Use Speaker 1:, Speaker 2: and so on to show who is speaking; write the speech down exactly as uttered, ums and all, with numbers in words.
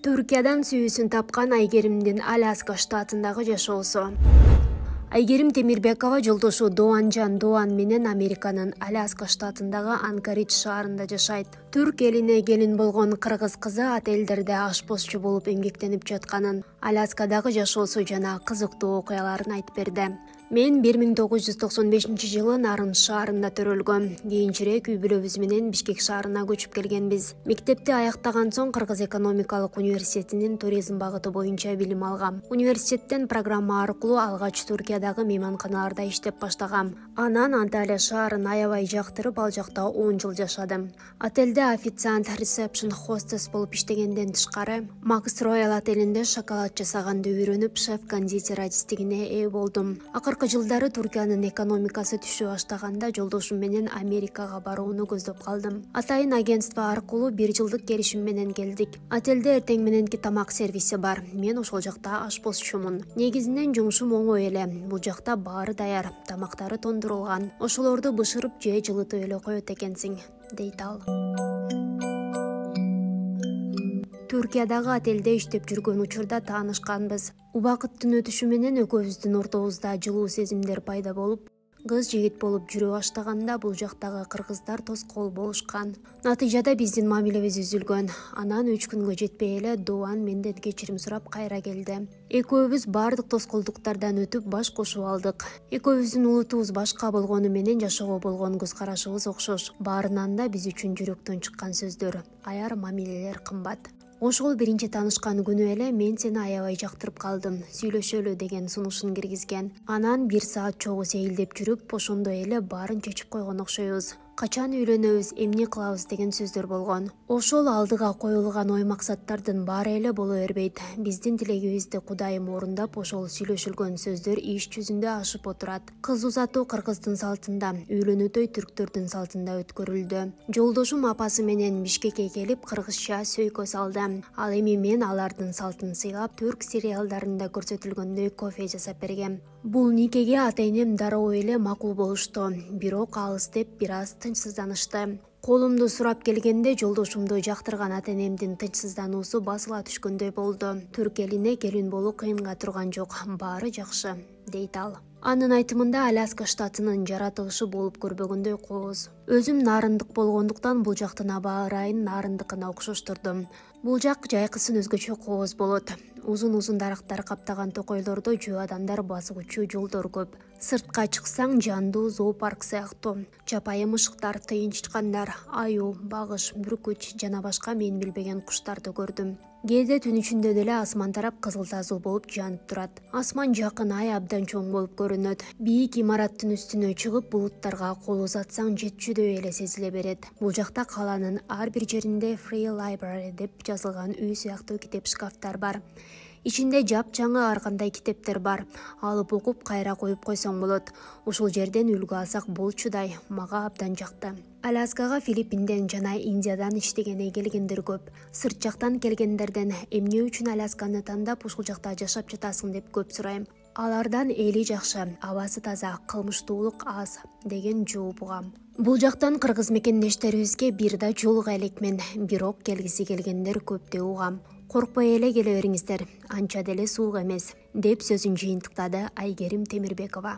Speaker 1: Түркиядан сүйүүсүн тапкан Айгеримдин Аляска штатындагы жашоосу. Айгерим Темирбекова жолдошу Doğancan Doğan менен Американын Аляска штатындагы Анкоридж шаарында жашайт. Түрк элине келин болгон кыргыз кызы отелдерде ашпозчу болуп эмгектенип жатканын, Аляскадагы жашоосу жана кызыктуу окуяларын айтып берди. Мен бир миң тогуз жүз токсон бешинчи жылы Нарын шаарында төрөлгөм. Кийинчерээк үй бүлөбүз менен Бишкек шаарына көчүп келгенбиз. Мектепти аяктаган соң Кыргыз экономикалык университетинин туризм багыты боюнча билим алгам. Университеттен программа аркылуу алгач Түркиядагы мейманканаларда иштеп баштагам. Анан Анталия шаарын аябай жактырып, ал жакта он жыл жашадым. Отелде официант, ресепшн, хостес болуп иштегенден тышкары, Макс Роял отелинде шоколад жасаганды үйрөнүп, шеф-кондитер адистигине ээ болдум. Акыркы жылдары Түркиянын экономикасы түшө баштаганда жолдошум менен Америкага барууну көздөп калдым. Атайын агентство аркылуу бир жылдык келишим менен келдик. Отелде эртең мененки тамак сервиси бар. Мен ошол жакта ашпозчумун. Негизинен жумушум оңой эле. Бул жакта баары даяр, тамактары тондурулган. Ошолорду бышырып же жылытып эле коет экенсиң, дейт ал. Түркиядагы отелде иштеп жүргөн учурда таанышканбыз. Убакыттын өтүшү менен экөөбүздүн ортобузда жылуу сезимдер пайда болуп, кыз жигит болуп жүрө баштаганда бул жактагы кыргыздар тоскоол болушкан. Натыйжада биздин мамилебиз үзүлгөн. Анан үч күнгө жетпей эле Doğan менден кечирим сурап кайра келди. Экөөбүз баардык тоскоолдуктардан өтүп баш кошуп алдык. Экөөбүздүн улутубуз башка болгону менен жашоого болгон көз карашыбыз окшош. Баарынан да биз үчүн жүрөктөн чыккан сөздөр, аяр мамилелер кымбат. Ошол биринчи таанышкан күнү эле мен сени аябай жактырып калдым, сүйлөшөлү деген сунушун киргизген. Анан бир саат чогуу сейилдеп жүрүп, ошондой эле баарын чечип койгон окшойбуз. Качан үйлөнөбүз, эмне кылабыз деген сөздөр болгон. Ошол алдыга коюлган ой максаттардын баары эле боло бербейт. Биздин тилегибизди Кудайым орундап, ошол сүйлөшүлгөн сөздөр иш жүзүндө ашып отурат. Кыз узатуу кыргыздын салтында, үйлөнүү той түрктөрдүн салтында өткөрүлдү. Жолдошум апасы менен Бишкекке келип, кыргызча сөйкө салды. Ал эми мен алардын салтын сыйлап, түрк сериалдарында көрсөтүлгөндөй кофе жасап бергем. Бул никеге ата-энем дароо эле макул болушту. Бирок алыс деп бир аз тынчсызданышты. Колумду сурап келгенде жолдошумду жактырган ата-энемдин тынчсыздануусу басыла түшкөндөй болду. Түрк элине келин болуу кыйынга турган жок, баары жакшы, дейт ал. Анын айтымында Аляска штатынын жаратылышы болуп көрбөгөндөй кооз. Өзүм нарындык болгондуктан бул жактын аба ырайын нарындыкына окшоштурдум. Бул жак жайкысын өзгөчө кооз болот. Узун-узун дарактар каптаган токойлордо жөө адамдар басуучу жолдор көп. Сыртка чыксаң жандуу зоопарк сыяктуу. Чапайы мышыктар, тыйынчкандар, аюу, багыш, бүркүч жана башка мен билбеген куштарды көрдүм. Кээде түн ичинде деле асман тарап кызыл тазыл болуп жанып турат. Асман жакын, ай абдан чоң болуп көрүнөт. Бийик имараттын үстүнө чыгып, булуттарга кол узатсаң жетчүдөй эле сезиле берет. Бул жакта калаанын ар бир жеринде Free Library деп жазылган үй сыяктуу китеп шкафтар бар. Ичинде жапжаңы ар кандай китептер бар. Алып окуп кайра коюп койсоң болот. Ушул жерден үлгү алсак болчудай, мага абдан жакты. Аляскага Филиппинден жана Индиядан иштегене келгендер көп. Сырт жактан келгендерден эмне үчүн Алясканы тандап ушул жакта жашап жатасың деп көп сурайм. Алардан эли жакшы, абасы таза, кылмыштуулук аз деген жооп угам. Бул жактан кыргыз мекендештерибизге бир да жолуга элекмен, бирок келгиси келгендер көп деп угам. Коркпой эле келе бериңиздер, анча деле суук эмес, деп сөзүн жыйынтыктады Айгерим Темирбекова.